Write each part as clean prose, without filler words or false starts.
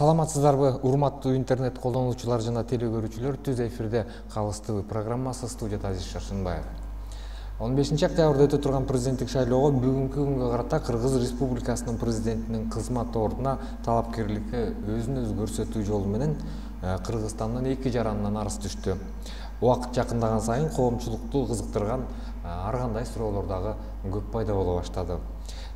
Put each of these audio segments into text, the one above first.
Саламатсыздарбы, урматтуу интернет колдонуучулар жана теле көрүүчүлөр. Түз эфирде Калыс ТV программасы, студияда Азиз Шаршынбаев. 15 октябрда өтө турган президенттик шайлоого бүгүнкү күнгө карата Кыргыз Республикасынын президентинин кызмат ордуна талапкерликке өзүн өзү көрсөтүү жолу менен Кыргызстандын эки жаранынан арыз түштү. Убакыт жакындаган сайын коомчулукту кызыктырган ар кандай суроолор дагы көп пайда боло баштады.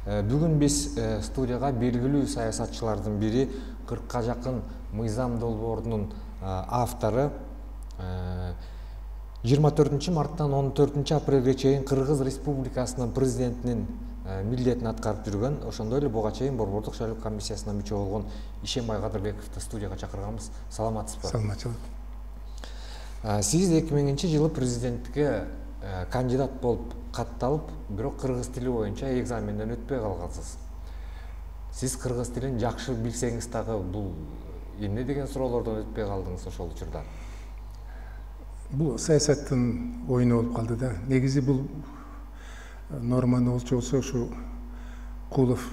Бүгүн биз студияга белгилүү саясатчылардын бири, 40-ка жакын мыйзам долбоорунун автору, 24 марттан 14 апрелге чейин Кыргыз Республикасынын президентинин милдетин аткарып жүргөн, ошондой эле буга чейин Борбордук шайлоо комиссиясына мүчө болгон Ишембай Кадырбековду студияга чакырганбыз. Саламатсызбы? Саламатчылык. Сиз 2000-жылы президенттикке кандидат болуп катталып, бирок кыргыз тили боюнча экзаменден өтпөй калгансыз. Сиз кыргыз тилин жакшы билсеңиз дагы бул эмне деген суроолордон өтпөй калдыңыз ошол учурда? Бул саясаттын оюну болуп калды да. Негизи бул норманы болчу ушу Кулов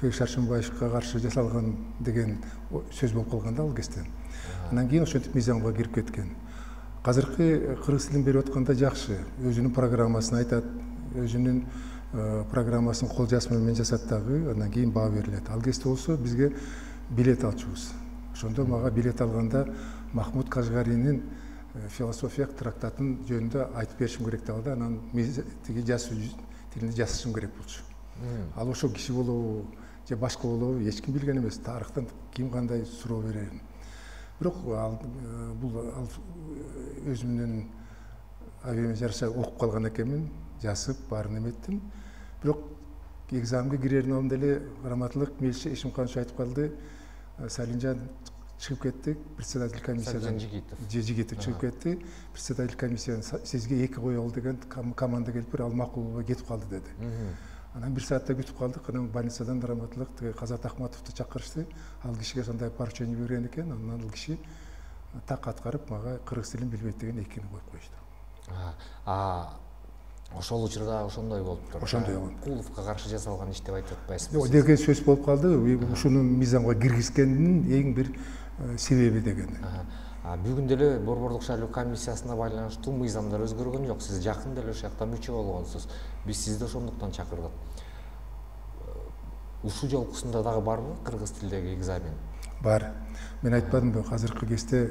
Шаршынбаевга каршы жасалган деген сөз болуп калган да ал кезде. Анан кийин ошентип мыйзамга кирип кеткен. Азыркы кыргыз тилин берип атканда жакшы, өзүнүн программасын айтат, өзүнүн программасын кол жазма менен жасат дагы, андан кийин баа берилет. Ал кезде болсо бизге билет алчубуз. Ошондо мага билет алганда Махмуд Кашгаринин философиялык трактатын жөнүндө айтып беришим керек дагы да, анан тиги жазуу тилинде жазышым керек болчу. Ал ошол киши болобу же башка болобу эч ким билген эмес. Тарыхтан ким кандай суроо берерин. Бирок бул өзүмдүн абийиме жараша окуп калган экенмин, жазып, баарын эметтим. Бирок экзамга кирердин алдында эле Раматылык Мелиши Ишимканович айтып калды, Салинжан чыгып кетти, председатель комиссиядан Жигитов чыгып кетти, председатель комиссиядан сизге 2 коелу деген команда келип бир ал макул болбой кетип калды деди. Анан 1 саатта күтүп калдык, анан больницадан Раматылык Казат Ахматовду чакырышты. Ал кишиге сондай поручение берген экен, анан ал киши так аткарып мага кыргыз тилин билбейт деген экини коюп коюшту. Ошол учурда ошондой болуптур. Ошондой болгон. Куловго каршы жасалган иш деп айтып атпайсызбы? Жок, деген сөз болуп калды. Ушуну мыйзамга киргизгендин эң бир себеби деген. Бүгүн деле Борбордук шайлоо комиссиясына байланыштуу мыйзамдар өзгөргөн жок. Сиз жакын деле ошол жакта мүчө болгонсуз. Биз сизди ошондуктан чакырдык. Ушул жолкусунда дагы барбы кыргыз тилдеги экзамен? Бар. Мен айтпадымбы, азыркы кезде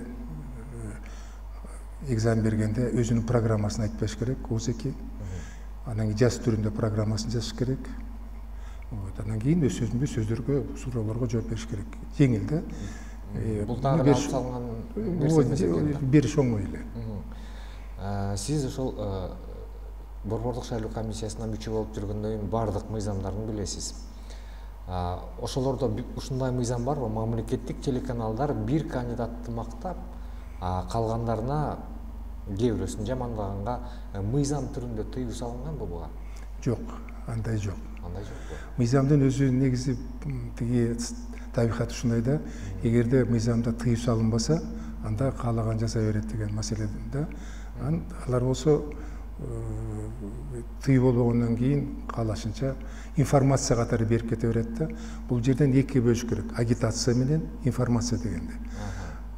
экзамен бергенде өзүнүн программасын айтып бериш керек, ОЗЭКи. Анан кийин жаз түрүндө программасын жазыш керек. Анан кийин өз сөздөргө, суроолорго жооп бериш керек. Жеңил да. Бул дагы алып салган нерсе эмес экен. Бериш оңой эле. Сиз ошол Борбордук шайлоо комиссиясына мүчө болуп жүргөндөн кийин бардык мыйзамдарды билесиз. Ошолордо ушундай мыйзам барбы? Мамлекеттик телеканалдар бир кандидатты мактап, калгандарына кээ бирөөсүн жамандаганга мыйзам түрүндө тыюу салынганбы буга? Жок, андай жок. Андай жокпу? Мыйзамдын өзү негизи тиги табигаты ушундай да, эгерде мыйзамда тыюу салынбаса, анда каалаган жасай берет деген маселе да. Алар болсо тыюу болбогондон кийин каалашынча информация катары берип кете берет да. Бул жерден экиге бөлүш керек, агитация менен информация дегенде.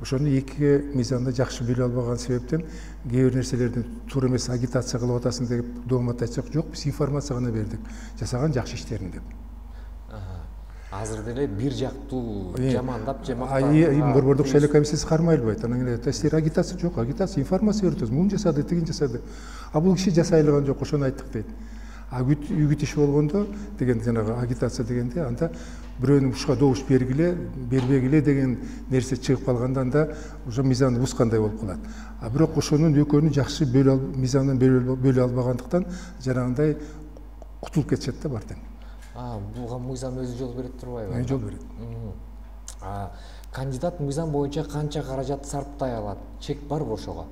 Ошону экиге мыйзамда жакшы бөлө албаган себептен кээ бир нерселерди туура эмес агитация кылып атасың деп доомат айтсак, жок, биз информация гана бердик, жасаган жакшы иштерин деп. Азыр деле бир жактуу жамандап же мактап. Борбордук шайлоо комиссиясы кармай албайт. Анан эле силер агитация жок, агитация информация берип атасыз. Муну жасады, тигин жасады. Бул киши жасай алган жок, ошону айттык дейт. Үгүт иш болгондо деген жанагы агитация дегенде анда бирөөнүн ушуга добуш бергиле, бербегиле деген нерсе чыгып калганда анда ошо мыйзамды бускандай болуп калат. Бирок ошонун экөөнү жакшы мыйзамдан бөлө албагандыктан жанагындай кутулуп кетишет да бартең. Буга мыйзам өзү жол берет турбайбы? Жол берет. Кандидат мыйзам боюнча канча каражат сарптай алат? Чек барбы ошого?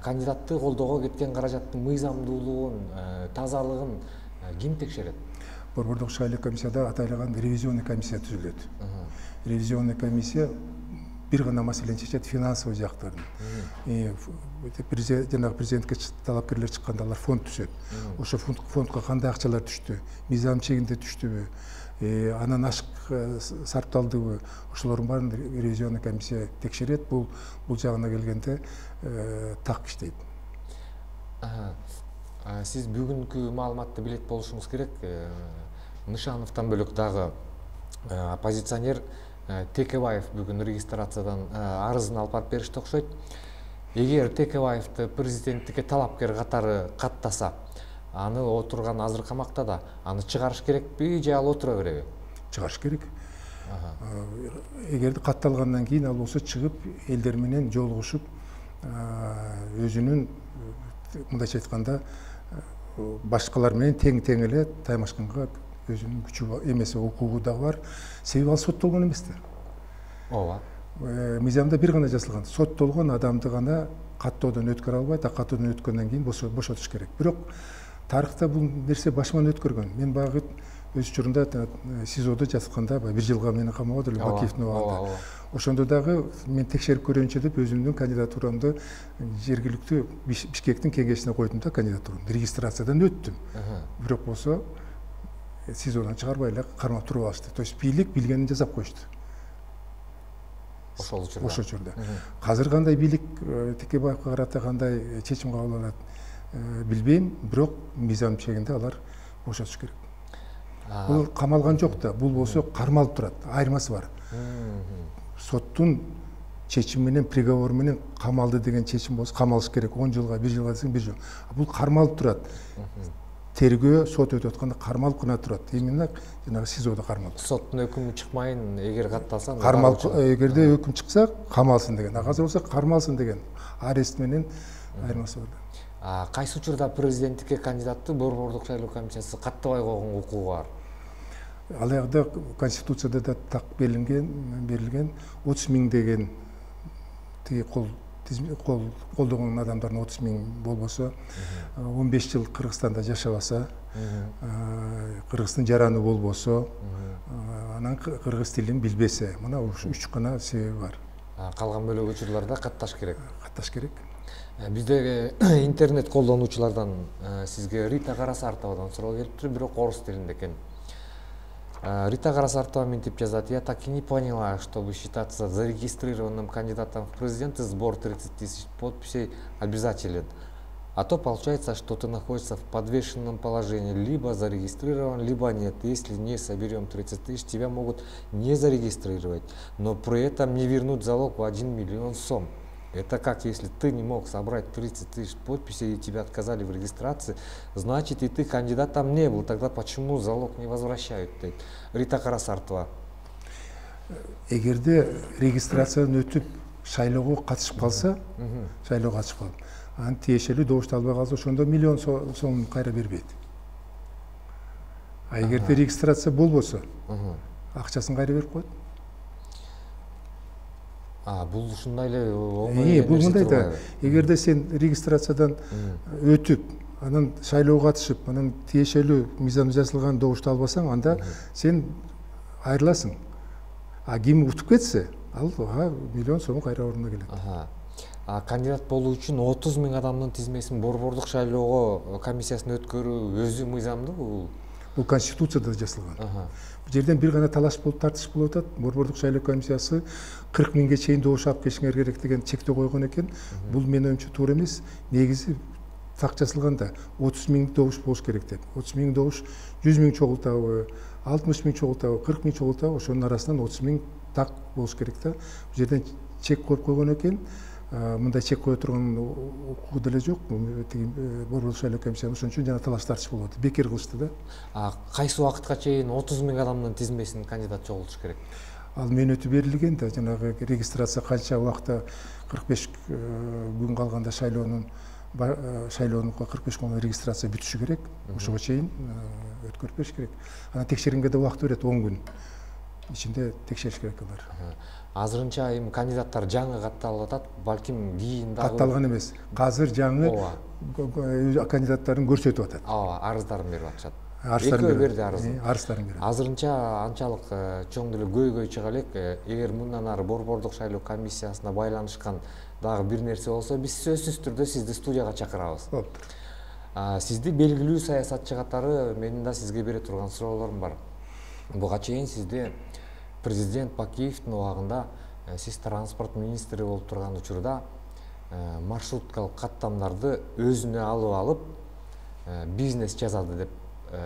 Кандидатты колдоого кеткен каражаттын мыйзамдуулугун, тазалыгын ким текшерет? Борбордук шайлоо комиссияда атайланган ревизионный комиссия түзүлөт. Ревизионный комиссия бир гана маселени чечет, финансовый жактарын. Жанагы президентке талапкерлер чыкканда алар фонд түзөт. Ошо фондко кандай акчалар түштү, мыйзам чегинде түштүбү, анан ашык сарпталдыбы, ошолордун баарын ревизионный комиссия текшерет. Бул жагына келгенде так иштейт. Сиз бүгүнкү маалыматты билет болушуңуз керек. Нышановдон бөлөк дагы оппозиционер Текебаев бүгүн регистрациядан арызын алып барып беришти окшойт. Эгер Текебаевди президенттикке талапкер катары каттаса, аны отурган азыр камакта да, аны чыгарыш керекпи же ал отура береби? Чыгарыш керек. Эгерде катталгандан кийин ал болсо чыгып элдер менен жолугушуп, өзүнүн мындайча айтканда башкалар менен тең эле таймашканга өзүнүн күчү эмеси, укугу дагы бар. Себеби ал соттолгон эмес да. Ооба. Мыйзамда бир гана жазылган: соттолгон адамды гана каттоодон өткөрө албайт, каттоодон өткөндөн кийин бошотуш керек. Бирок тарыхта бул нерсе башыман өткөргөн. Мен багы өз учурунда СИЗОдо жатканда 1 жылга мени камаган эле Бакиевдин убагында. Ошондо дагы мен текшерип көрөйүнчү деп өзүмдүн кандидатурамды жергиликтүү Бишкектин кеңешине койдум да, кандидатурамды регистрациядан өттүм. Бирок болсо СИЗОдон чыгарбай эле кармап туруп алышты. То есть бийлик билгенин жасап коюшту. Ошол учурда. Азыр кандай бийлик Текебаевга карата кандай чечим кабыл алат билбейм, бирок мыйзам чегинде алар бошотуш керек. Бул камалган жок да, бул болсо кармалып турат. Айырмасы бар. Соттун чечими менен, приговору менен камалды деген чечим болсо камалыш керек. 10 жылга, 1 жылга десең 1 жыл. Бул кармалып турат. Тергөө сот өтүп атканда кармалып гана турат. Именно жанагы СИЗОдо кармалып. Соттун өкүмү чыкмайын, эгер катталса, кармалып, эгерде өкүм чыкса камалсын деген. Азыр болсо кармалсын деген. Арест менен айырмасы бар. Кайсы учурда президенттикке кандидатты Борбордук шайлоо комиссиясы каттабай койгонго укугу бар? Ал ягда Конституцияда да так берилген 30 000 деген тиги колдогон адамдардын 30 000 болбосо, 15 жыл Кыргызстанда жашабаса, Кыргыздын жараны болбосо, анан кыргыз тилин билбесе, мына 3 гана себеби бар. Калган бөлөк учурларда катташ керек. Катташ керек. Биздеги интернет колдонуучулардан сизге Рита Карасартовадан суроо келиптир, бирок орус тилинде экен. Рита Карасартова мынтип жазат: я так и не поняла, чтобы считаться зарегистрированным кандидатом в президенты, сбор 30 000 подписей обязателен. А то получается, что ты находишься в подвешенном положении, либо зарегистрирован, либо нет. Если не соберем 30 000, тебя могут не зарегистрировать, но при этом не вернуть залог в 1 миллион сом. Это как, если ты не мог собрать 30 000 подписей и тебя отказали в регистрации, значит и ты кандидатом не был. Тогда почему залог не возвращают? Рита Карасартова. Эгерде регистрациядан өтүп шайлоого катышып калса, шайлоого катышып калып, анын тиешелүү добушту албай калса, ошондо 1 миллион сом кайра бербейт. А эгерде регистрация болбосо, акчасын кайра берип коет. Бул ушундай эле оңой. Бул мындай да, эгерде сен регистрациядан өтүп, анан шайлоого катышып, анан тиешелүү мыйзамда жазылган добушту албасаң, анда сен айрыласың. А ким утуп кетсе, ал 1 миллион сом кайра ордуна келет. Кандидат болуу үчүн 30 000 адамдын тизмесин Борбордук шайлоо комиссиясына өткөрүү өзү мыйзамдыбы? Бул Конституцияда жазылган. Бул жерден бир гана талаш болуп, тартыш болуп атат. Борбордук шайлоо комиссиясы 40 000ге чейин добуш алып келишиңер керек деген чектөө койгон экен. Бул менин оюмча туура эмес. Негизи так жазылганда 30 000 добуш болуш керек деп. 30 000 добуш 100 000 чогултабы, 60 000 чогултабы, 40 000 чогултабы, ошонун арасынан 30 000 так болуш керек да. Бул жерден чек коюп койгон экен. Мындай чек кое турган укугу деле жок. Борбордук шайлоо комиссиясы ошон үчүн жана талаш тартыш болуп атат. Бекер кылышты да. Кайсы убакытка чейин 30 000 адамдын тизмесин кандидат чогултуш керек? Ал мөөнөтү берилген да, жанагы регистрация канча убакытта 45 күн калганда шайлоонун 45 күн регистрация бүтүшү керек. Ошого чейин өткөрүп бериш керек. Анан текшергенге да убакыт берет, 10 күн ичинде текшериш керек алар. Азырынча эми кандидаттар жаңы катталып атат, балким кийин дагы катталган эмес. Азыр жаңы кандидаттарын көрсөтүп атат. Арыздарын берип атышат. Арыздарын берди арыздарын. Арыздарын берди. Азырынча анчалык чоң деле көйгөй чыга элек. Эгер мындан ары Борбордук шайлоо комиссиясына байланышкан дагы бир нерсе болсо, биз сөзсүз түрдө сизди студияга чакырабыз. Сизди белгилүү саясатчы катары менин да сизге бере турган суроолорум бар. буга чейин сизде президент Бакиевдин убагында сиз транспорт министри болуп турган учурда маршруткалык каттамдарды өзүнө алып бизнес жазады деп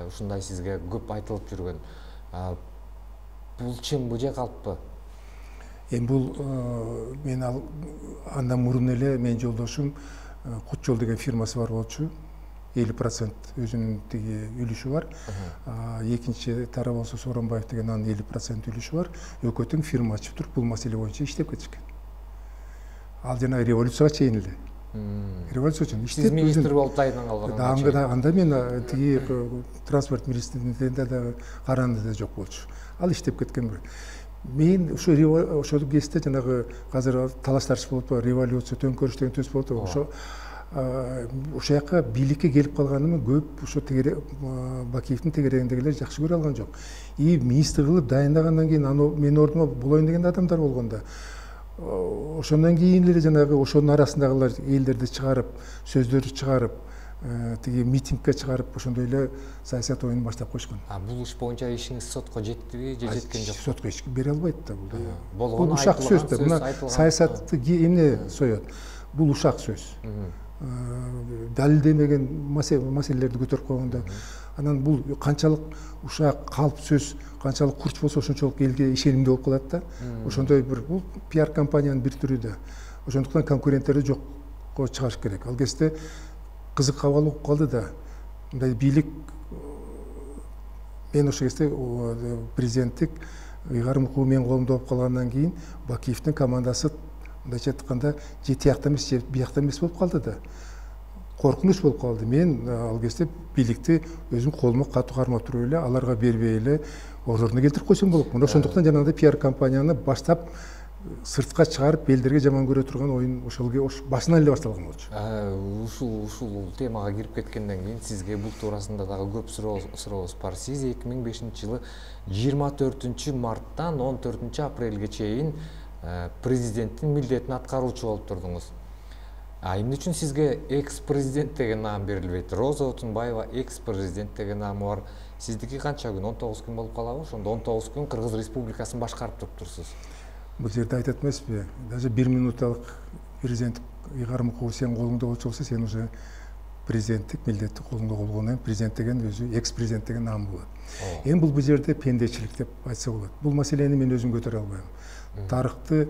ушундай сизге көп айтылып жүргөн. Бул чынбы же калппы? Эми бул мен андан мурун эле менин жолдошум Кут жол деген фирмасы бар болчу. 50% өзүнүн тиги үлүшү бар. Экинчи тарап болсо Сооронбаев деген анын 50% үлүшү бар. Экөө тең фирма ачып туруп бул маселе боюнча иштеп кетишкен. Ал жана революцияга чейин эле. Революция үчүн иштеп сиз министр болуп дайынан калганга анда мен тиги транспорт министрлигинде да каранды да жок болчу. Ал иштеп кеткен бир. Мен ошол кезде жанагы азыр талаш тартыш болуп атпайбы, революция, төңкөрүш деген төз болуп атпайбы. Ошол жака бийликке келип калганыма көп ошо Бакиевдин тегерегиндегилер жакшы көрө алган жок. Министр кылып дайындагандан кийин менин ордума болоюн деген адамдар болгондо ошондон кийин эле жанагы ошонун арасындагылар элдерди чыгарып, сөздөрдү чыгарып, тиги митингге чыгарып, ошондой эле саясат оюнун баштап койушкан. Бул иш боюнча ишиңиз сотко жеттиби же жеткен жок? Сотко эч ким бере албайт да бул. Бул ушак сөз да. Мына саясатты эмне соёт? Бул ушак сөз. Далилдемеген маселелерди көтөрүп койгондо, анан бул канчалык ушак калп сөз, канчалык курч болсо ошончолук элге ишенимдүү болуп калат да. Ошондой бир бул пиар компаниянын бир түрү да. Ошондуктан конкуренттерди жокко чыгарыш керек. Ал кезде кызык абал болуп калды да. Мындай бийлик мен ошол кезде президенттик ыйгарым укугу менин колумда болуп калгандан кийин Бакиевдин командасы мындайча айтканда же тиякта эмес же биякта эмес болуп калды да. Коркунуч болуп калды. Мен ал кезде бийликти өзүм колума катуу кармап туруп эле, аларга бербей эле ордуна келтирип койсом болот. Мына ошондуктан жанагындай пиар компанияны баштап сыртка чыгарып элдерге жаман көрө турган оюн ошол башынан эле башталган болчу. Ушул темага кирип кеткенден кийин сизге бул туурасында дагы көп сурообуз бар. Сиз 2005-жылы 24 марттан 14 апрелге чейин президенттин милдетин аткаруучу болуп турдуңуз. Эмне үчүн сизге экс-президент деген наам берилбейт? Роза Отунбаева экс-президент деген наамы бар. Сиздики канча күн? 19 күн болуп калабы? Ошондо 19 күн Кыргыз Республикасын башкарып туруптурсуз. Бул жерде айтат эмеспи? Даже 1 минуталык президенттик ыйгарым укугу сенин колуңда болчу болсо, сен уже президенттик милдетти колуңда болгондон президент деген өзү экс-президент деген наам болот. Эми бул жерде пендечилик деп айтса болот. Бул маселени мен өзүм көтөрө албайм. Тарыхты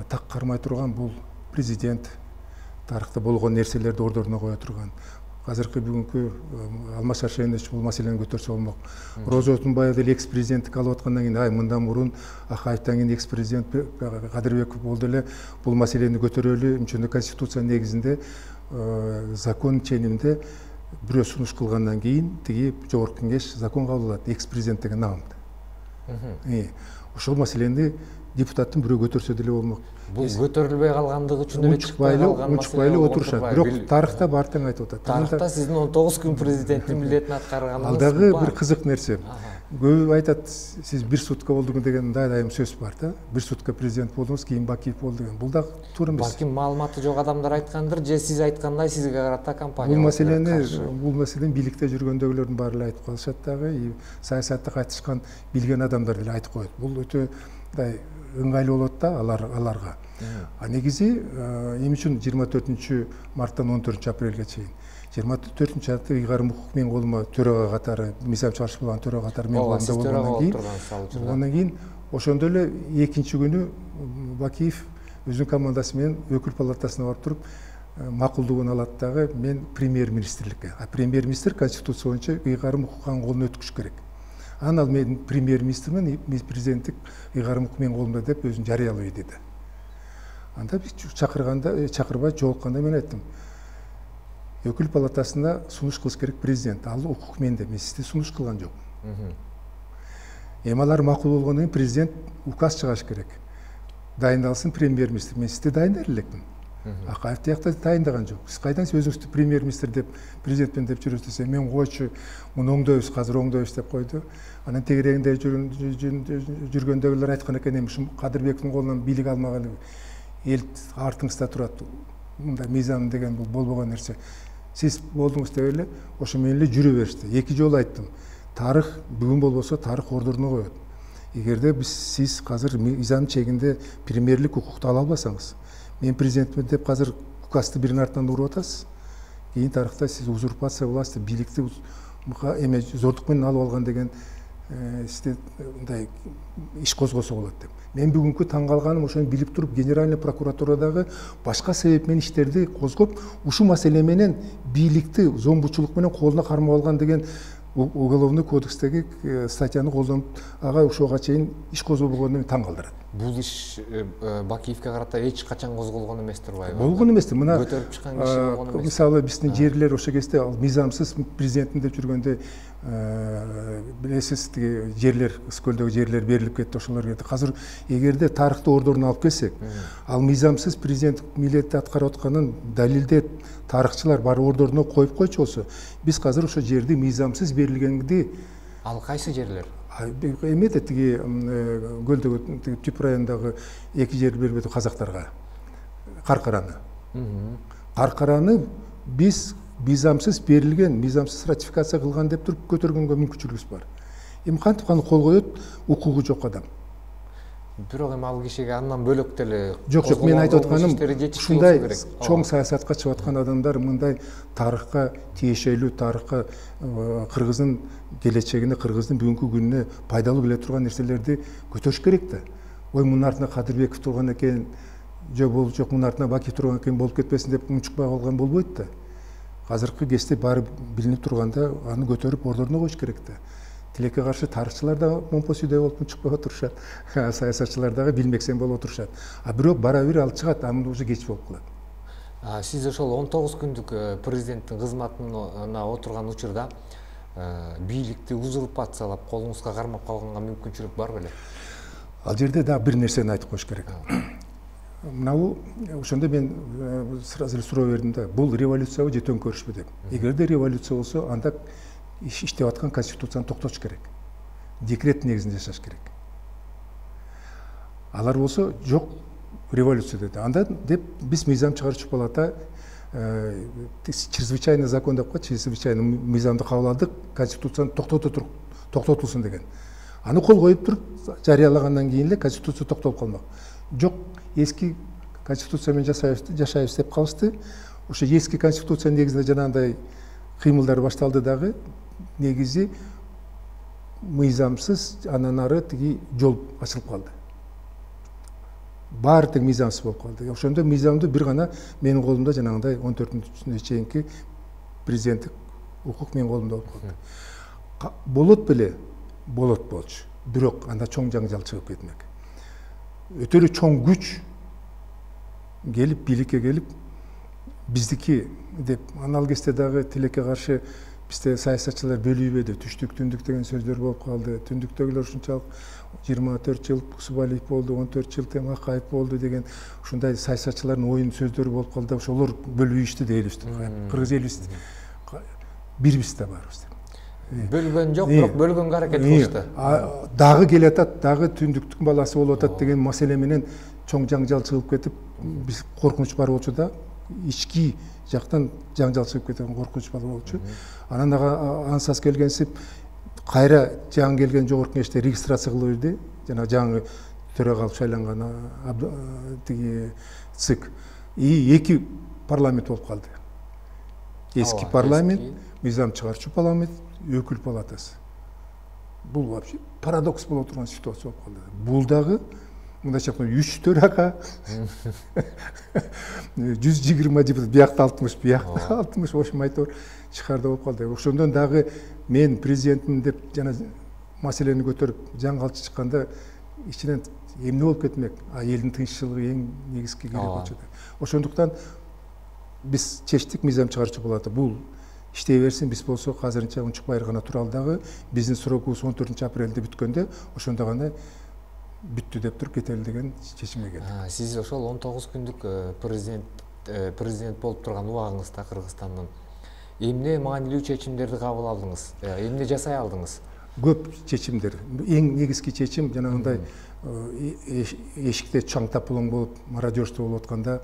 так кармай турган бул президент, тарыхта болгон нерселерди ордуна кое турган. Азыркы бүгүнкү Алмаз Шаршенович бул маселени көтөрсө болмок. Роза Отунбаев деле экс-президенттик алып аткандан кийин, мындан мурун Акаевден кийин экс-президент Кадырбеков болду эле бул маселени көтөрөлү, ошондо конституция негизинде закон ченинде бирөө сунуш кылгандан кийин тиги жогорку кеңеш закон кабыл алат экс-президент деген наамды. Ошол маселени депутаттын бирөө көтөрсө деле болмок. Бул көтөрүлбөй калгандыгы үчүн эле унчукпай эле отурушат. Бирок тарыхта баар тең айтып атат. Тарыхта сиздин 19 күн президенттин милдетин аткарганыңыз бар. Ал дагы бир кызык нерсе. Көп айтат, сиз 1 сутка болдуңуз деген дайым сөз бар да. 1 сутка президент болдуңуз, кийин Бакиев болду деген. Бул дагы туура эмес. Балким маалыматы жок адамдар айткандыр, же сиз айткандай сизге карата компания. Бул маселени бийликте жүргөндөгүлөрдүн баары эле айтып калышат дагы, саясатта кайтышкан билген адамдар деле айтып коет. Бул өтө мындай ыңгайлуу болот да аларга. Негизи эмне үчүн 24 марттан 14 апрелге чейин? 24 апрелде ыйгарым укук менин колума төрага катары, мисал чыгарыш болгон төрага катары менин колумда болгондон кийин, ошондо эле экинчи күнү Бакиев өзүнүн командасы менен өкүл палатасына барып туруп макулдугун алат дагы мен премьер-министрликке. Премьер-министр конституция боюнча ыйгарым укугун колуна өткүш керек. Анан ал мен премьер-министрмен президенттик ыйгарым укук менин колумда деп өзүн жарыялай деди. Анда биз чакырбай жолукканда мен айттым. Өкүл палатасына сунуш кылыш керек президент. Ал укук менде, мен сизди сунуш кылган жок. Эми алар макул болгондон кийин президент указ чыгарыш керек. Дайындалсын премьер-министр. Мен сизди дайындар элекмин. Акаев тиякта дайындаган жок. Сиз кайдан өзүңүздү премьер-министр деп, президентпен деп жүрөсүз десе, мен койчу, муну оңдойбуз, азыр оңдойбуз деп койду. Анан тегерегинде жүргөндөгүлөр айткан экен, эми ушул Кадырбековдун колунан бийлик алмаган эл артыңызда турат. Мындай мыйзам деген бул болбогон нерсе. Сиз болдуңуз деп эле ошо менен эле жүрө беришти. 2 жолу айттым. тарых бүгүн болбосо тарых ордуруна коет. Эгерде сиз азыр мыйзам чегинде премьерлик укукту ала албасаңыз, мен президентмин деп азыр указды биринин артынан уруп атасыз. Кийин тарыхта сиз узурпация власти, бийликти эме зордук менен алып алган деген мындай иш козгосо болот деп. Мен бүгүнкү таң калганым ошону билип туруп, генеральный прокуратурадагы башка себеп менен иштерди козгоп, ушул маселе менен бийликти зомбучулук менен колуна кармап алган деген уголовный кодекстеги статьяны колдонуп, ага ошого чейин иш козголбогону мени таң калтырат. Бул иш Бакиевке карата эч качан козголгон эмес турбайбы? Болгон эмес. Мына көтөрүп чыккан киши болгон эмес. Мисалы биздин жерлер ошо кезде ал мыйзамсыз президентим деп жүргөндө билесиз, тиги жерлер, Скөлдөгү жерлер берилип кетти, ошолор кетти. Азыр эгерде тарыхты ордуруна алып келсек, ал мыйзамсыз президент милдетти аткарып атканын далилдеп тарыхчылар бар ордуруна коюп койчу болсо, биз азыр ошо жерди мыйзамсыз берилгенди. Ал кайсы жерлер? Эмете тиги Көлдөгү Түп районундагы 2 жер бербеди казактарга. Каркараны. Каркараны биз мыйзамсыз берилген, мыйзамсыз ратификация кылган деп туруп көтөргөнгө мүмкүнчүлүгүбүз бар. Эми кантип аны кол коет укугу жок адам. Бирок эми ал кишиге андан бөлөк деле жок, мен айтып атканым ушундай чоң саясатка чыгып аткан адамдар мындай тарыхка тиешелүү, тарыхка кыргыздын келечегине, кыргыздын бүгүнкү күнүнө пайдалуу келе турган нерселерди көтөрүш керек да. Ой, мунун артында Кадырбеков турган экен, жок мунун артында Бакиев турган экен, болуп кетпесин деп унчукпай калган болбойт да. Азыркы кезде баары билинип турганда аны көтөрүп ордуруна коюш керек да. Тилекке каршы тарыхчылар да момпосүйдөй болуп унчукпай отурушат, саясатчылар дагы билмексен болуп отурушат. Бирок бара бир алып чыгат, аны уже кеч болуп калат. Сиз ошол 19 күндүк президенттин кызматына отурган учурда бийликти узурпациялап колуңузга кармап калганга мүмкүнчүлүк бар беле? Ал жерде дагы бир нерсени айтып коюш керек. Мынау ошондо мен сразу суроо бердим да, бул революциябы же төңкөрүшпү деп. Эгерде революция болсо, анда иштеп аткан конституцияны токтотуш керек. Декрет негизинде жашаш керек. Алар болсо жок, революция деди. Анда деп биз мыйзам чыгаруучу палата чрезвычайный закон деп коет, чрезвычайный мыйзамды кабыл алдык, конституцияны токтотулсун деген. Аны кол коюп туруп жарыялагандан кийин эле конституция токтолуп калмак. Жок, эски конституция менен жашайбыз деп калышты. Ошо эски конституция негизинде жанагындай кыймылдар башталды дагы, негизи мыйзамсыз анан ары тиги жол ачылып калды. Баары тең мыйзамсыз болуп калды. Ошондо мыйзамды бир гана менин колумда жанагындай 14-күнүнө чейинки президенттик укук менин колумда болуп калды. Болот беле? Болот болчу. Бирок анда чоң жаңжал чыгып кетмек. Өтө эле чоң күч келип, бийликке келип, биздики деп, анал кезде дагы тилекке каршы бизде саясатчылар бөлүбөдү, түштүк, түндүк деген сөздөр болуп калды. Түндүктөгүлөр ушунчалык 24 жыл Субалиев болду, 14 жыл тем Акаев болду деген ушундай саясатчылардын оюн сөздөрү болуп калды. Ошолор бөлүбүштү дейбиз. Кыргыз элибиз бирбиз да барбыз деп. Бөлгөн жок, бирок бөлгөнгө аракет кылышты. Дагы келатат, дагы түндүктүн баласы болуп атат деген маселе менен чоң жаңжал чыгып кетип, биз коркунуч бар болчу да. Ички жактан жаңжал чыгып кеткен коркунуч бар болчу. Анан ансас келгенсип кайра жаңы келген жогорку кеңеште регистрация кылып берди. Жана жаңы төрага кылып шайланган тиги ЦИК. Эки парламент болуп калды. Эски парламент, мыйзам чыгаруучу парламент, өкүл палатасы. Бул вообще парадокс болуп турган ситуация болуп калды. Бул дагы мындайча айтканда 3 төрага 120 депутат, биякта 60, биякта 60, ошо айтор чыгарда болуп калды. Ошондон дагы мен президентмин деп жана маселени көтөрүп жаңы калчы чыкканда ичинен эмне болуп кетмек? Элдин тынччылыгы эң негизги керек болчу. Ошондуктан биз чечтик, мыйзам чыгаруучу палата бул иштей берсин, биз болсо азырынча унчукпай гана туралы дагы биздин срогубуз 14 апрелде бүткөндө ошондо гана бүттү деп туруп кетели деген чечимге келдик. Сиз ошол 19 күндүк президент болуп турган убагыңызда Кыргызстандын эмне маанилүү чечимдерди кабыл алдыңыз? Эмне жасай алдыңыз? Көп чечимдер. Эң негизги чечим жанагындай эшикте чаң тапылың болуп, мародерство болуп атканда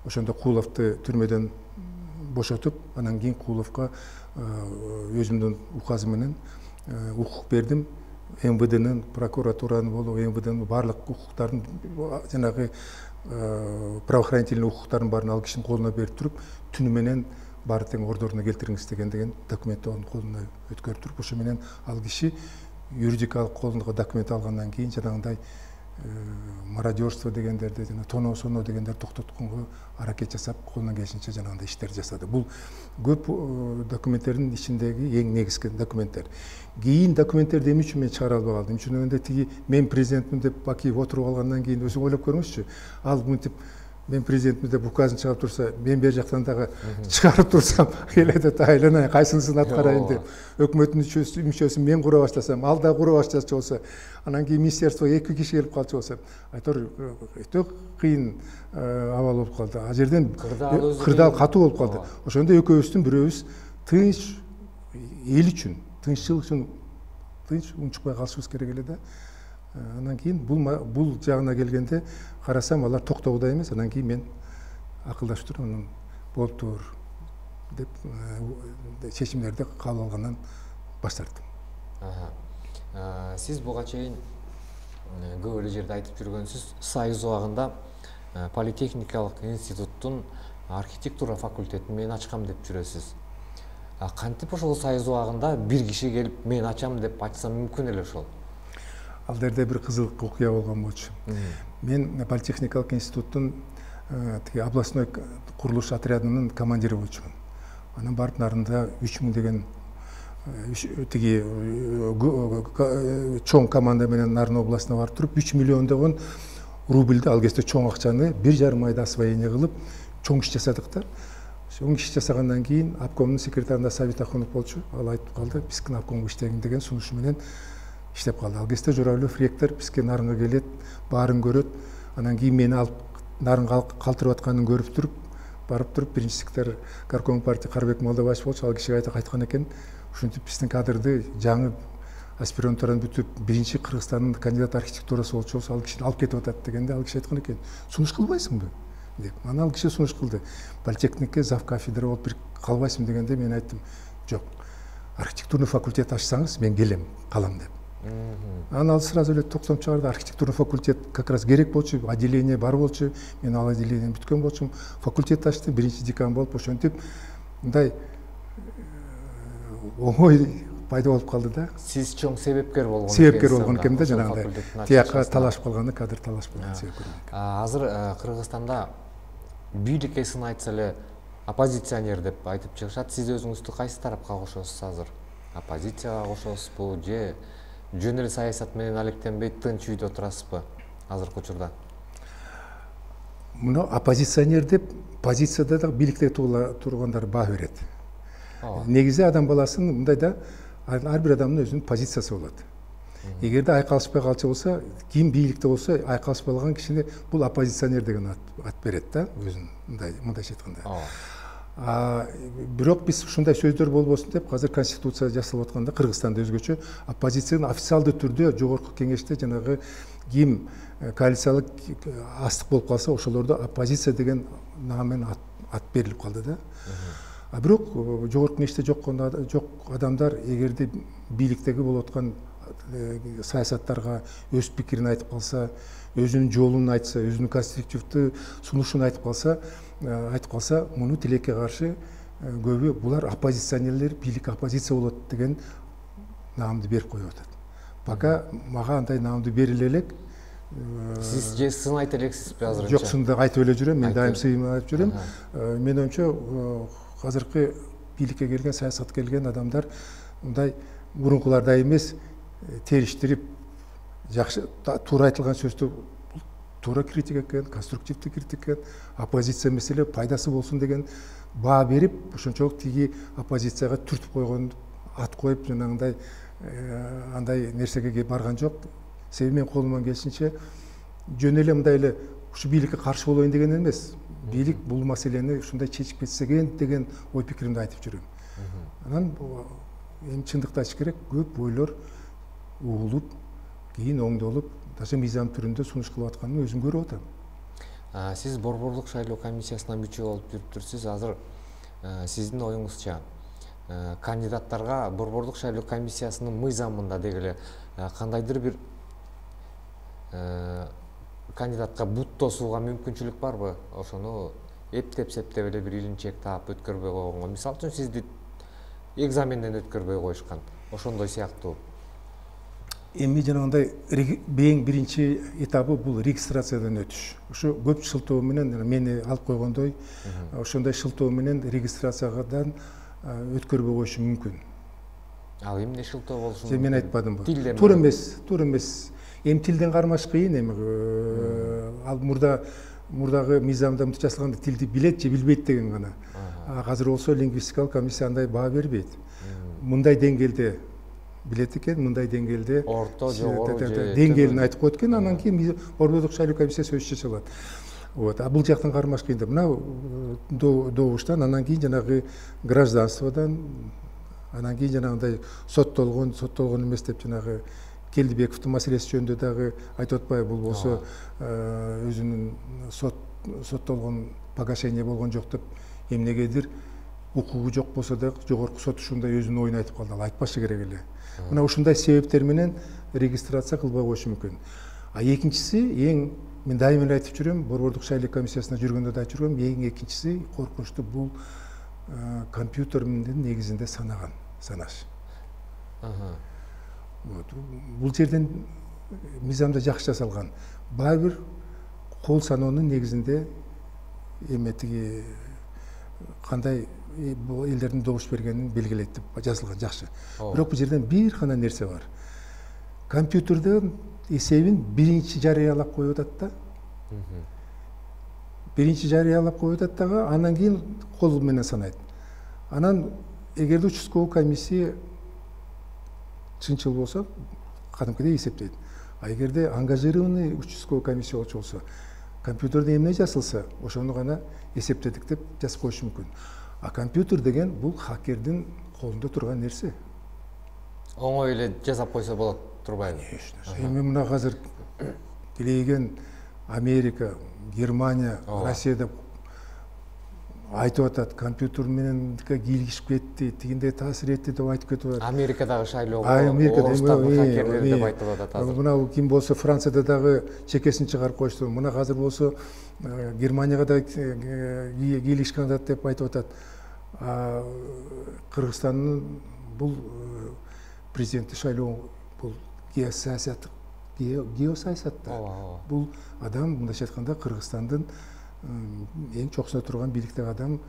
ошондо Кууловду түрмөдөн бошотуп, анан кийин Кууловго өзүмдүн указым менен укук бердим. МВДнын, прокуратуранын болуп, МВДнын баардык укуктарын, жанагы правоохранительный укуктардын баарын ал кишинин колуна берип туруп, түнү менен баары тең ордоруна келтириңиз деген документти анын колуна өткөрүп туруп, ошо менен ал киши юридикалык колуна документ алгандан кийин жанагындай мародерство дегендерди, жана тоноо соноо дегендерди токтотконго аракет жасап, колунан келишинче жанагындай иштерди жасады. Бул көп документтердин ичиндеги эң негизги документтер. Кийин документтерди эмне үчүн мен чыгара албай калдым? Үчүнөн тиги мен президентмин деп Бакиев отуруп алгандан кийин өзүң ойлоп көрүңүзчү. Ал мынтип мен президентмин деп указын чыгарып турса, мен бер жактан дагы чыгарып турсам, эледе тайланайын, кайсынысын аткарайын деп, өкмөттүн мүчөсүн мен кура баштасам, ал да кура баштачу болсо, анан кийин министерствого 2 киши келип калчу болсо, айтор өтө кыйын абал болуп калды. А жерден кырдаал катуу болуп калды. Ошондо экөөбүздүн бирөөбүз тынч эл үчүн, тынччылык үчүн тынч унчукпай калышыбыз керек эле да. Анан кийин бул жагына келгенде карасам, алар токтогудай эмес. Анан кийин мен акылдашып туруп, анан болуптур деп чечимдерди кабыл алгандан баш тарттым. Сиз буга чейин көп эле жерде айтып жүргөнсүз, Союз убагында Политехникалык институттун архитектура факультетин мен ачкам деп жүрөсүз. Кантип ошол Союз убагында бир киши келип мен ачам деп ачса мүмкүн эле ошол? Ал жерде бир кызык окуя болгон болчу. Мен Политехникалык институттун областной курулуш отрядынын командири болчумун. Анан барып нарында 3000 деген тиги чоң команда менен Нарын областына барып туруп 3 миллиондогон рубльди, ал кезде чоң акчаны 1,5 айда освоение кылып чоң иш жасадык да. Чоң иш жасагандан кийин обкомдун секретарында Сабит Ахунов болчу. Ал айтып калды, биздин обкомго иштегин деген сунушу менен иштеп калды. Ал кезде Жорабаев ректор бизге Нарынга келет, баарын көрөт. Анан кийин мени алып Нарынга калтырып атканын көрүп туруп, барып туруп биринчи секретарь горком партия Карбек Молдобаев болчу. Ал кишиге айткан экен, ушинтип биздин кадрды жаңы аспиранттардан бүтүп биринчи Кыргызстандын кандидат архитектурасы болчу болсо, ал кишини алып кетип атат дегенде, ал киши айткан экен, сунуш кылбайсыңбы деп. Анан ал киши сунуш кылды. Политехникке зав кафедра болуп бир калбайсың дегенде мен айттым, жок, архитектурный факультет ачсаңыз мен келем, калам деп. Анан ал сразу эле токтом чыгарды. Архитектурный факультет как раз керек болчу, отделение бар болчу. Мен ал отделениени бүткөн болчумун. Факультет ачты, биринчи декан болуп, ошентип мындай оңой пайда болуп калды да. Сиз чоң себепкер болгон экенсиз. Себепкер болгон экенмин да, жанагындай. Тияка талашып калганда кадыр талашып калган себепкер. Азыр Кыргызстанда бийликке сын айтса эле оппозиционер деп айтып чыгышат. Сиз өзүңүздү кайсы тарапка кошосуз азыр? Оппозицияга кошосузбу же жөн эле саясат менен алектенбей тынч үйдө турасызбы азыркы учурда? Муну оппозиционер деп позицияда да бийликте тургандар баа берет. Негизи адам баласын мындай да, ар бир адамдын өзүнүн позициясы болот. Эгерде айкалышпай калчу болсо, ким бийликте болсо, айкалышпай калган кишине бул оппозиционер деген ат берет да, өзүн мындайча айтканда. Бирок биз ушундай сөздөр болбосун деп азыр конституция жасалып атканда Кыргызстанда өзгөчө оппозициянын официалдуу түрдө жогорку кеңеште жанагы ким коалициялык астык болуп калса, ошолордо оппозиция деген наамен ат берилип калды да. Бирок жогорку кеңеште жок адамдар эгерде бийликтеги болуп аткан саясаттарга өз пикирин айтып калса, өзүнүн жолун айтса, өзүнүн конструктивдүү сунушун айтып калса, муну тилекке каршы көбү булар оппозиционерлер, бийлик оппозиция болот деген наамды берип коюп атат. Пока мага андай наамды бериле элек. Сиз же сын айта элексизби азырынча? Жок, сынды айтып эле жүрөм, мен дайым сыйын айтып жүрөм. Менин оюмча азыркы бийликке келген, саясатка келген адамдар мындай мурункулардай эмес, териштирип, жакшы туура айтылган сөздү туура критика экен, конструктивдүү критика экен, оппозиция маселе пайдасы болсун деген баа берип, ошончолук тиги оппозицияга түртүп койгон, ат коюп, жанагындай андай нерсеге барган жок. Себеби мен колуман келишинче жөн эле мындай эле ушу бийликке каршы болоюн деген эмес. Бийлик бул маселени ушундай чечип кетсе экен деген ой пикиримди айтып жүрөм. Анан эми чындыкты айтыш керек, көп ойлор угулуп, кийин оңдолуп, даже мыйзам түрүндө сунуш кылып атканын өзүм көрүп атам. Сиз Борборлук шайлоо комиссиясынын мүчө болуп жүрүптүрсүз. Азыр сиздин оюңузча кандидаттарга Борбордук шайлоо комиссиясынын мыйзамында деги эле кандайдыр бир кандидатка бут тосууга мүмкүнчүлүк барбы? Ошону эптеп-септеп эле бир илинчек таап өткөрбөй койгонго. Мисалы үчүн сизди экзаменден өткөрбөй коюшкан. Ошондой сыяктуу. Эми жанагындай эң биринчи этабы бул регистрациядан өтүш. Ошо көп шылтоо менен мени алып койгондой, ошондой шылтоо менен регистрациядан өткөрбөй коюшу мүмкүн. Ал эмне шылтоо болушу мүмкүн? Мен айтпадымбы. Тилден Туура эмес. Эми тилден кармаш кыйын, эми ал мурдагы мыйзамда мынтип жасалганда тилди билет же билбейт деген гана. Азыр болсо лингвистикалык комиссия андай баа бербейт. Мындай деңгээлде билет экен, мындай деңгээлде орто, жогору же деңгээлин айтып коет экен, анан кийин Борбордук шайлоо комиссиясы өзү чече алат. Бул жактан кармаш кыйын да. Мына добуштан, анан кийин жанагы гражданстводан, анан кийин жанагындай соттолгон эмес деп жанагы Келдибековдун маселеси жөнүндө дагы айтып атпайбы, бул болсо өзүнүн соттолгон погашение болгон жок деп эмнегедир укугу жок болсо да жогорку сот ушундай өзүнүн оюн айтып калды. Ал айтпашы керек эле. Мына ушундай себептер менен регистрация кылбай коюшу мүмкүн. Экинчиси, мен дайыма эле айтып жүрөм, Борбордук шайлоо комиссиясына жүргөндө да айтып жүрөм, экинчиси коркунучтуу бул компьютер менен негизинде санаш. Бул жерден мыйзамда жакшы жасалган. Баары бир кол саноонун негизинде эметиги кандай элдердин добуш бергенин белгилейт деп жазылган, жакшы. Бирок бул жерден бир гана нерсе бар. Компьютерден эсебин биринчи жарыялап коюп атат да. Биринчи жарыялап коюп атат дагы, анан кийин кол менен санайт. Анан эгерде участковый комиссия чынчыл болсо, кадимкидей эсептейт. Эгерде ангажированный участковый комиссия болчу, компьютерде эмне жазылса, ошону гана эсептедик деп жазып коюшу мүмкүн. Компьютер деген бул хакердин колунда турган нерсе. Оңой эле жасап койсо болот, турбайбы? Конечно. Эми мына азыр билеген Америка, Германия, Россия деп айтып атат, компьютер менен кийлигишип кетти, тигиндей таасир этти деп айтып кетип атат. Америкадагы шайлоого орустардын хакерлери деп айтылып атат азыр. Мына ким болсо Францияда дагы чекесин чыгарып коюшту. Мына азыр болсо Германияга да кийлигишкен деп айтып атат. Кыргызстандын бул президенттик шайлоо бул геосаясат да. Бул адам мындайча айтканда Кыргызстандын эң чокусунда турган бийликтеги адам,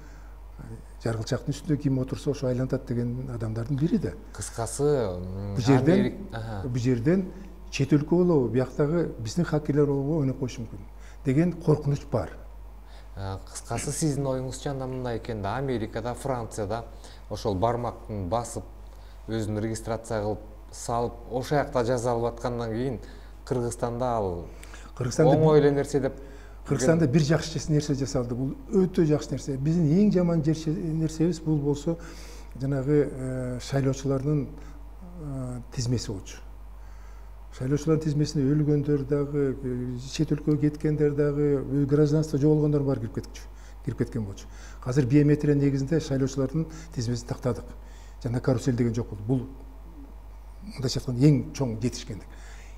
жаргылчактын үстүндө ким отурса ошо айлантат деген адамдардын бири да. Кыскасы, бул жерден чет өлкө болобу, бияктагы биздин хакерлер болобу ойноп коюшу мүмкүн деген коркунуч бар. Кыскасы сиздин оюңузча анда мындай экен да, Америкада, Францияда ошол бармактын басып, өзүн регистрация кылып салып, ошол жакта жаза алып аткандан кийин Кыргызстанда ал оңой эле нерсе деп. Кыргызстанда бир жакшы нерсе жасалды. Бул өтө жакшы нерсе. Биздин эң жаман нерсебиз бул болсо жанагы шайлоочулардын тизмеси болчу. Шайлоочулардын тизмесине өлгөндөр дагы, чет өлкөгө кеткендер дагы, гражданство жоголгондор бар кирип кеткен болчу. Азыр биометрия негизинде шайлоочулардын тизмесин тактадык. Жана карусель деген жок болду. Бул мындайча айтканда эң чоң жетишкендик.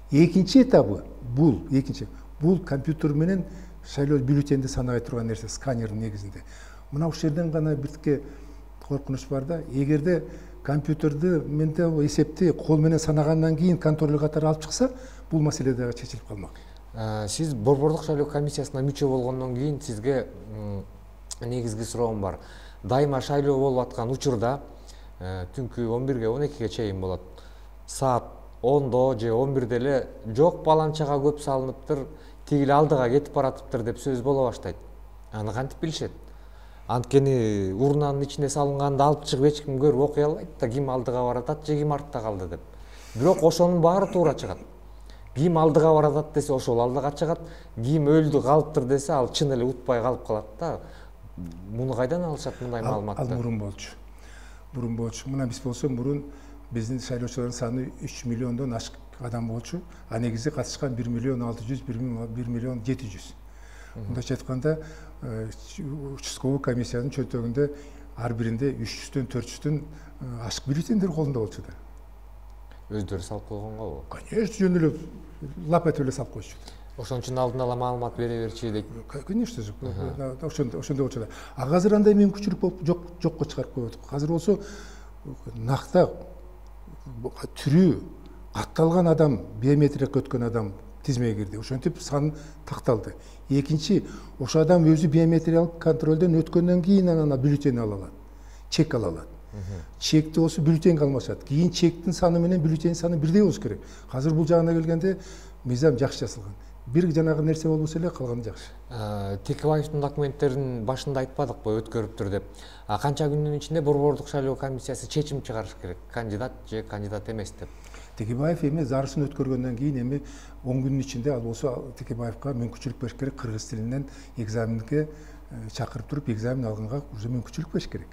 Экинчи этабы бул компьютер менен шайлоо бюллетенди санабай турган нерсе, сканердин негизинде. Мына ушул жерден гана биртке коркунуч бар да. Эгерде компьютерди менде эсепти кол менен санагандан кийин контроль катары алып чыкса, бул маселе дагы чечилип калмак. Сиз Борбордук шайлоо комиссиясына мүчө болгондон кийин сизге негизги суроом бар. Дайыма шайлоо болуп аткан учурда түнкү 11-ге 12-ге чейин болот. Саат 10-до же 11-де эле жок баланчага көп салыныптыр, тигил алдыга кетип баратыптыр деп сөз боло баштайт. Аны кантип билишет? Анткени урнанын ичине салынганды алып чыгып эч ким көрүп окуй албайт да, ким алдыга баратат же ким артта калды деп. Бирок ошонун баары туура чыгат. Ким алдыга баратат десе ошол алдыга чыгат, ким өлдү калыптыр десе ал чын эле утпай калып калат да. Муну кайдан алышат мындай маалыматты? Ал мурун болчу. Мына биз болсо мурун биздин шайлоочулардын саны 3 миллиондон ашык адам болчу. А негизи катышкан 1 миллион 600, 1 миллион 700. Мындайча айтканда, участковый комиссиянын чөнтөгүндө ар биринде 300дөн 400дөн ашык бюллетендер колунда болчу да. Өздөрү салып койгонгобу? Конечно, жөн эле лап этип эле салып коючу. Ошон үчүн алдын ала маалымат бере берчи дейт. Конечно, ошондой болчу да. Азыр андай мүмкүнчүлүк болуп жокко чыгарып коюп атат. Азыр болсо накта түрү катталган адам, биометрияга өткөн адам тизмеге кирди. Ошентип сан такталды. Экинчи, ошо адам өзү биометриялык контролдон өткөндөн кийин анан бюллетень ала алат. Чек ала алат. Чекти болсо бюллетень алмашат. Кийин чектин саны менен бюллетень саны бирдей болуш керек. Азыр бул жагына келгенде мыйзам жакшы жасалган. Бир жанагы нерсе болбосо эле калганы жакшы. Текебаевдин документтерин башында айтпадыкпы, өткөрүптүр деп. Канча күндүн ичинде Борбордук шайлоо комиссиясы чечим чыгарыш керек? Кандидат же кандидат эмес деп. Текебаев эми зарысын өткөргөндөн кийин эми 10 күндүн ичинде ал болсо Текебаевга мүмкүнчүлүк бериш керек, кыргыз тилинен экзаменге чакырып туруп экзамен алганга уже мүмкүнчүлүк бериш керек.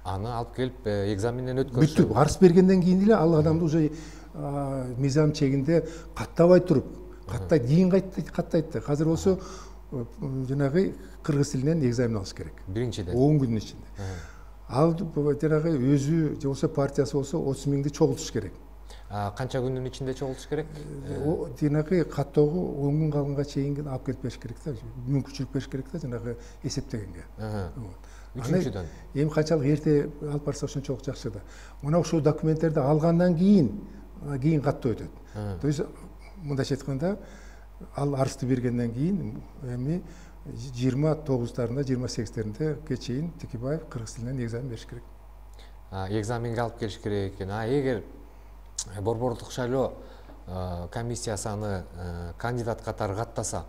Аны алып келип экзаменден өткөрүш. Бүттү. Арыз бергенден кийин эле ал адамды уже мыйзам чегинде каттабай туруп, каттайт, кийин каттайт да. Азыр болсо жанагы кыргыз тилинен экзамен алыш керек. Биринчиден 10 күндүн ичинде. Ал жанагы өзү же болсо партиясы болсо 30 миңди чогултуш керек. Канча күндүн ичинде чогултуш керек? Жанагы каттоого 10 күн калганга чейин алып келип бериш керек да. Мүмкүнчүлүк бериш керек да жанагы эсептегенге. Үчүнчүдөн эми канчалык эрте алып барса ошончолук жакшы да. Мына ошол документтерди алгандан кийин каттоо өтөт. То есть мындайча айтканда ал арызды бергенден кийин эми 29-тарында 28-теринде чейин Текебаев кыргыз тилинен экзамен бериш керек. Экзаменге алып келиш керек экен. Эгер Борбордук шайлоо комиссиясы аны кандидат катары каттаса,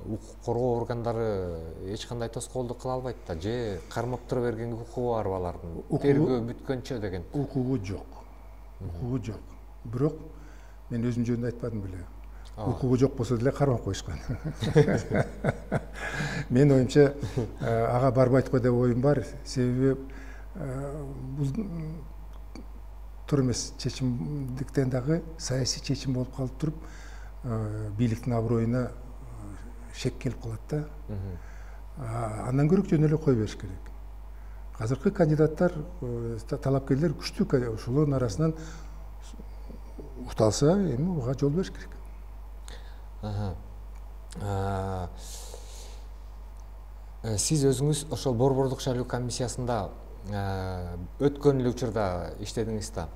укук коргоо органдары эч кандай тоскоолдук кыла албайт да, же кармап тура бергенге укугу бар алардын. Тергөө бүткөнчө деген. Укугу жок. Укугу жок. Бирок мен өзүм жөнүндө айтпадым беле. Укугу жок болсо деле кармап коюшкан. Мен оюмча ага барбайт го деп оюм бар. Себеби бул тур эмес чечимдиктен дагы саясий чечим болуп калып туруп, бийликтин аброюна шек келип калат да. Андан көрө жөн эле кое бериш керек. Азыркы кандидаттар, талапкерлер күчтүү, ошолордун арасынан укталса, эми буга жол бериш керек. Сиз өзүңүз ошол Борбордук шайлоо комиссиясында өткөн эле учурда иштедиңиз да.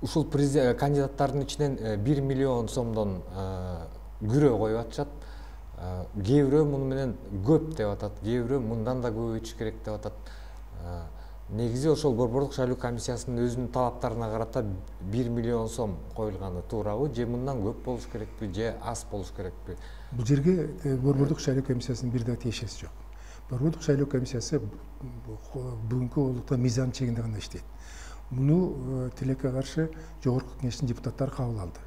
Ушул кандидаттардын ичинен 1 миллион сомдон күрөө коюп атышат. Кээ бирөө муну менен көп деп атат, кээ бирөө мындан да көбөйтүш керек деп атат. Негизи ошол Борбордук шайлоо комиссиясынын өзүнүн талаптарына карата 1 миллион сом коюлганы туурабы, же мындан көп болуш керекпи, же аз болуш керекпи? Бул жерге Борбордук шайлоо комиссиясынын бир да тиешеси жок. Борбордук шайлоо комиссиясы бүгүнкү олукта мыйзам чегинде гана иштейт. Муну тилекке каршы жогорку кеңештин депутаттары кабыл алды.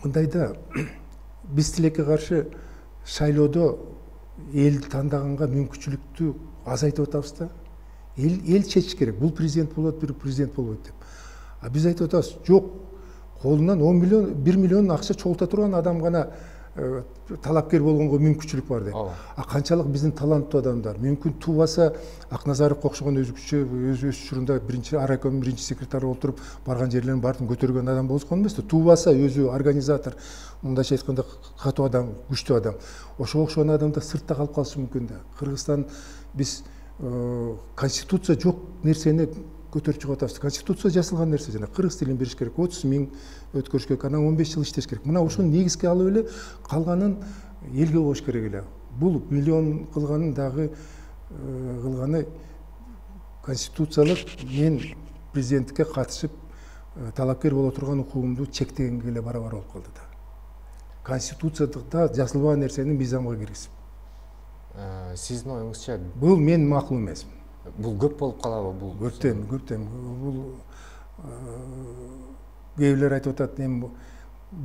Мындайда биз тилекке каршы шайлоодо эл тандаганга мүмкүнчүлүктү азайтып атабыз да. Эл чечиш керек. Бул президент болот, бир президент болбойт деп. Биз айтып атабыз, жок, колунан 1 миллион акча чогулта турган адам гана талапкер болгонго мүмкүнчүлүк бар деп. Канчалык биздин таланттуу адамдар, мүмкүн туубаса Акназаровго окшогон өз учурунда биринчи райкомдун биринчи секретары болуп туруп, барган жерлерин баарын көтөргөн адам болгон эмес да. Туубаса өзү организатор, мындайча айтканда катуу адам, күчтүү адам. Ошого окшогон адамдар сыртта калып калышы мүмкүн да. Кыргызстан биз конституция жок нерсени көтөрүп чыгып атабыз. Конституция жасалган нерсе жана кыргыз тилин бериш керек, 30 миң өткөрүш керек, анан 15 жыл иштеш керек. Мына ошону негизге алып эле калганын элге коюш керек эле. Бул миллион кылганын дагы кылганы конституциялык мен президенттикке катышып талапкер боло турган укугумду чектегенге эле барабар болуп калды да. Конституцияда жазылбаган нерсени мыйзамга киргизип. Сиздин оюңузча бул мен макул эмес. Бул көп болуп калабы бул? Көптөн. Бул кээбирлер айтып атат, эми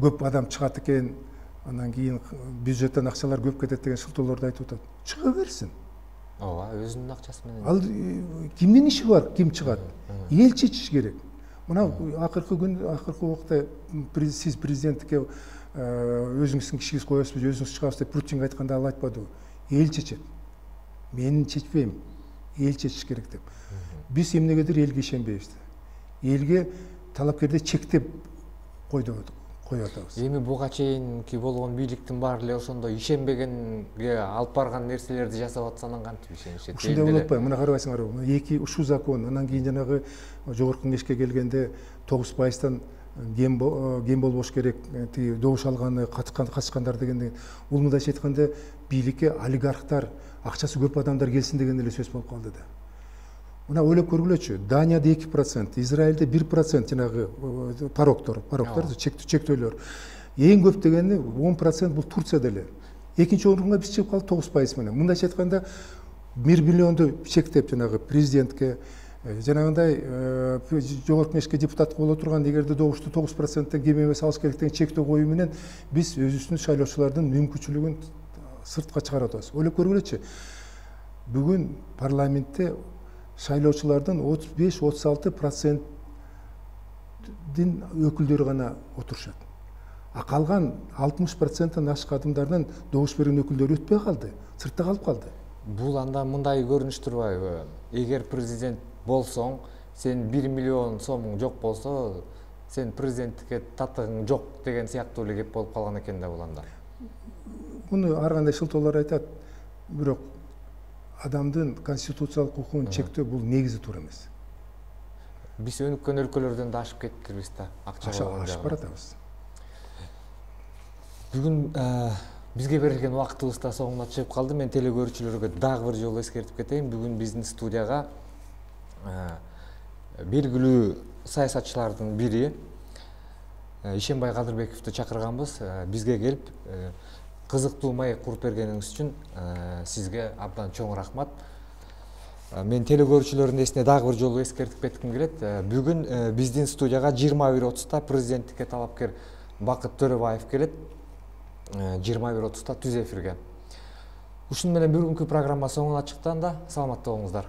көп адам чыгат экен, анан кийин бюджеттен акчалар көп кетет деген шылтоолорду айтып атат. Чыга берсин. Ооба, өзүнүн акчасы менен. Ал кимдин иши бар, ким чыгат? Эл чечиш керек. Мына акыркы убакта сиз президенттикке өзүңүздүн кишиңиз коесузбу, өзүңүз чыгасыз деп Путинге айтканда ал айтпадыбы? эл чечет. Мен чечпейм, эл чечиш керек деп. Биз эмнегедир элге ишенбейбиз. Элге талапкерди чектеп коюп атабыз. Эми буга чейинки болгон бийликтин баары эле ошондой ишенбегенге алып барган нерселерди жасап атса, анан кантип ишенишет? Ушундай болуп атпайбы? Мына карабайсыңарбы? Эки ушул закон, анан кийин жанагы жогорку кеңешке келгенде 9%-тан кем болбош керек, тиги добуш алганы качкандар деген. Бул мындайча айтканда бийликке олигархтар, акчасы көп адамдар келсин деген эле сөз болуп калды да. Мына ойлоп көргүлөчү. Данияда 2%, Израилде 1% жанагы порогдор, чектөөлөр. Эң көп дегени 10% бул Турцияда эле. Экинчи орунга биз чыгып калдык 9% менен. Мындайча айтканда 1 миллионду чектеп жанагы президентке, жанагындай жогорку кеңешке депутат боло турган, эгерде добушту 9%тен кем эмес алыш керек деген чектөө коюу менен биз өзүбүздүн шайлоочулардын мүмкүнчүлүгүн сыртка чыгарып атабыз. Ойлоп көргүлөчү. Бүгүн парламентте шайлоочулардын 35-36%-дин өкүлдөрү гана отурушат. А калган 60%-тан ашык адамдардын добуш берген өкүлдөрү өтпөй калды, сыртта калып калды. Бул анда мындай көрүнүш турбайбы? Эгер президент болсоң, сен 1 миллион сомуң жок болсо, сен президенттикке татыгың жок деген сыяктуу эле кеп болуп калган экен да бул анда. Муну ар кандай шылтоолор айтат, бирок адамдын конституциялык укугун чектөө бул негизи туура эмес. Биз өнүккөн өлкөлөрдөн да ашып кеткирбиз да, акча болгон жагы. Ашып баратабыз. Бүгүн бизге берилген убактыбыз да соңуна чыгып калды. Мен телекөрүүчүлөргө дагы бир жолу эскертип кетейин. Бүгүн биздин студияга белгилүү саясатчылардын бири Ишенбай Кадырбековду чакырганбыз. Бизге келип кызыктуу маек куруп бергениңиз үчүн сизге абдан чоң рахмат. Мен телекөрүүчүлөрдүн эсине дагы бир жолу эскертип кетким келет. Бүгүн биздин студияга 21:30-та президенттикке талапкер Бакыт Төрөбаев келет. 21:30-та түз эфирге. Ушуну менен бүгүнкү программа соңуна чыкты анда. Саламатта болуңуздар.